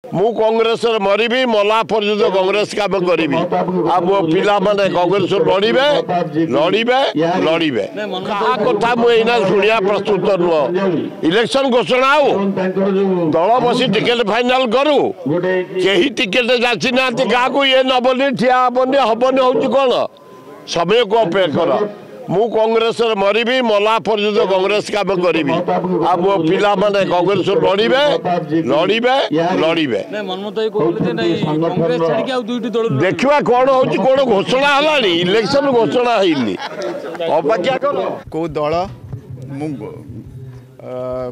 ମୁଁ କଂଗ୍ରେସରେ ମରିବି, ମଲା ପର୍ଯ୍ୟନ୍ତ କଂଗ୍ରେସ କାମ କରିବି, ଆଉ ମୋ ପିଲାମାନେ କଂଗ୍ରେସ ଲଢ଼ିବେ, ଲଢ଼ିବେ, ଲଢ଼ିବେ। କାହା କଥା ମୁଁ ଏଇନା ଶୁଣିବା ପ୍ରସ୍ତୁତ ନୁହଁ। ଇଲେକ୍ସନ ଘୋଷଣା ଆଉ ଦଳ ବସି ଟିକେଟ ଫାଇନାଲ କରୁ। କେହି ଟିକେଟ ଯାଚି ନାହାନ୍ତି କାହାକୁ। ଇଏ ନବନି, ଠିଆ ହବନି, ହବନି ହଉଛି କ'ଣ? ସମୟକୁ ଅପେକ୍ଷା କର। ମୁଁ କଂଗ୍ରେସରେ ମରିବି, ମଲା ପର୍ଯ୍ୟନ୍ତ କଂଗ୍ରେସ କାମ କରିବି, ଆଉ ମୋ ପିଲାମାନେ କଂଗ୍ରେସ ଲଢ଼ିବେ, ଲଢ଼ିବେ, ଲଢ଼ିବେ। ଦେଖିବା କ'ଣ ହଉଛି, କ'ଣ ଘୋଷଣା ହେଲାଣି। ଇଲେକ୍ସନ ଘୋଷଣା ହେଇନି, ଅପେକ୍ଷା କର। କେଉଁ ଦଳ ମୁଁ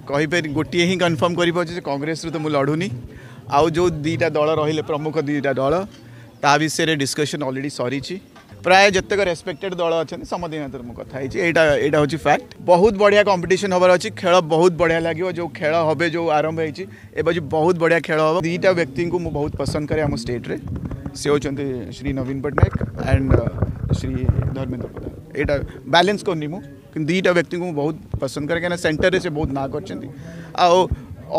କହିପାରି, ଗୋଟିଏ ହିଁ କନଫର୍ମ କରିପାରୁଛି ଯେ କଂଗ୍ରେସରୁ ତ ମୁଁ ଲଢ଼ୁନି। ଆଉ ଯେଉଁ ଦୁଇଟା ଦଳ ରହିଲେ, ପ୍ରମୁଖ ଦୁଇଟା ଦଳ, ତା ବିଷୟରେ ଡିସ୍କସନ୍ ଅଲରେଡ଼ି ସରିଛି। ପ୍ରାୟ ଯେତେକ ରେସ୍ପେକ୍ଟେଡ୍ ଦଳ ଅଛନ୍ତି, ସମସ୍ତଙ୍କ ସାଥିରେ ମୁଁ କଥା ହେଇଛି। ଏଇଟା ହେଉଛି ଫ୍ୟାକ୍ଟ। ବହୁତ ବଢ଼ିଆ କମ୍ପିଟିସନ୍ ହେବାର ଅଛି। ଖେଳ ବହୁତ ବଢ଼ିଆ ଲାଗିବ। ଯେଉଁ ଖେଳ হবে, ଯେଉଁ ଆରମ୍ଭ ହେଇଛି ଏବେ, ବହୁତ ବଢ଼ିଆ ଖେଳ ହେବ। ଦୁଇଟା ବ୍ୟକ୍ତିଙ୍କୁ ମୁଁ ବହୁତ ପସନ୍ଦ କରେ ଆମ ଷ୍ଟେଟ୍ରେ, ସେ ହେଉଛନ୍ତି ଶ୍ରୀ ନବୀନ ପଟ୍ଟନାୟକ ଆଣ୍ଡ ଶ୍ରୀ ଧର୍ମେନ୍ଦ୍ର ପ୍ରଧାନ। ଏଇଟା ବାଲାନ୍ସ କରୁନି ମୁଁ, କିନ୍ତୁ ଦୁଇଟା ବ୍ୟକ୍ତିଙ୍କୁ ମୁଁ ବହୁତ ପସନ୍ଦ କରେ, କାହିଁକିନା ସେଣ୍ଟରରେ ସେ ବହୁତ ନାଁ କରିଛନ୍ତି ଆଉ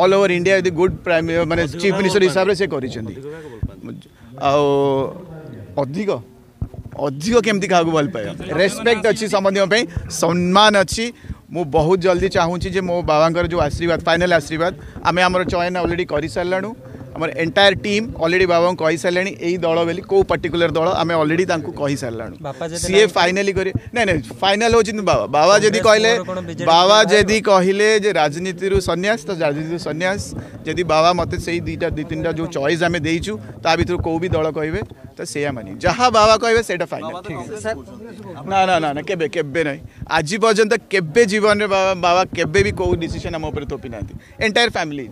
ଅଲ୍ ଓଭର ଇଣ୍ଡିଆ ଯଦି ଗୁଡ୍ ପ୍ରାଇମ୍ ମାନେ ଚିଫ୍ ମିନିଷ୍ଟର ହିସାବରେ ସେ କରିଛନ୍ତି। ଆଉ ଅଧିକ ଅଧିକ କେମିତି କାହାକୁ ଭଲ ପାଇବା, ରେସ୍ପେକ୍ଟ ଅଛି ସମସ୍ତଙ୍କ ପାଇଁ, ସମ୍ମାନ ଅଛି। ମୁଁ ବହୁତ ଜଲ୍ଦି ଚାହୁଁଛି ଯେ ମୋ ବାବାଙ୍କର ଯେଉଁ ଆଶୀର୍ବାଦ, ଫାଇନାଲ୍ ଆଶୀର୍ବାଦ। ଆମେ ଆମର ଚୟନ ଅଲରେଡ଼ି କରିସାରିଲାଣୁ। ଆମର ଏଣ୍ଟାୟାର ଟିମ୍ ଅଲରେଡ଼ି ବାବାଙ୍କୁ କହିସାରିଲାଣି ଏଇ ଦଳ ବୋଲି, କେଉଁ ପର୍ଟିକୁଲାର ଦଳ ଆମେ ଅଲରେଡ଼ି ତାଙ୍କୁ କହିସାରିଲାଣୁ। ସିଏ ଫାଇନାଲି କରି, ନାଇଁ ନାଇଁ, ଫାଇନାଲ ହେଉଛନ୍ତି ବାବା। ବାବା ଯଦି କହିଲେ, ବାବା ଯଦି କହିଲେ ଯେ ରାଜନୀତିରୁ ସନ୍ନ୍ୟାସ, ତ ରାଜନୀତିରୁ ସନ୍ନ୍ୟାସ। ଯଦି ବାବା ମୋତେ ସେଇ ଦୁଇଟା, ଦୁଇ ତିନିଟା ଯେଉଁ ଚଏସ୍ ଆମେ ଦେଇଛୁ, ତା ଭିତରୁ କେଉଁ ବି ଦଳ କହିବେ ତ ସେଇଆ ମାନି, ଯାହା ବାବା କହିବେ ସେଇଟା ଫାଇନାଲ। ନା ନା ନା ନା, କେବେ କେବେ ନାହିଁ। ଆଜି ପର୍ଯ୍ୟନ୍ତ କେବେ ଜୀବନରେ ବାବା କେବେ ବି କେଉଁ ଡିସିସନ୍ ଆମ ଉପରେ ଥୋପି ନାହାନ୍ତି, ଏଣ୍ଟାୟାର ଫ୍ୟାମିଲି।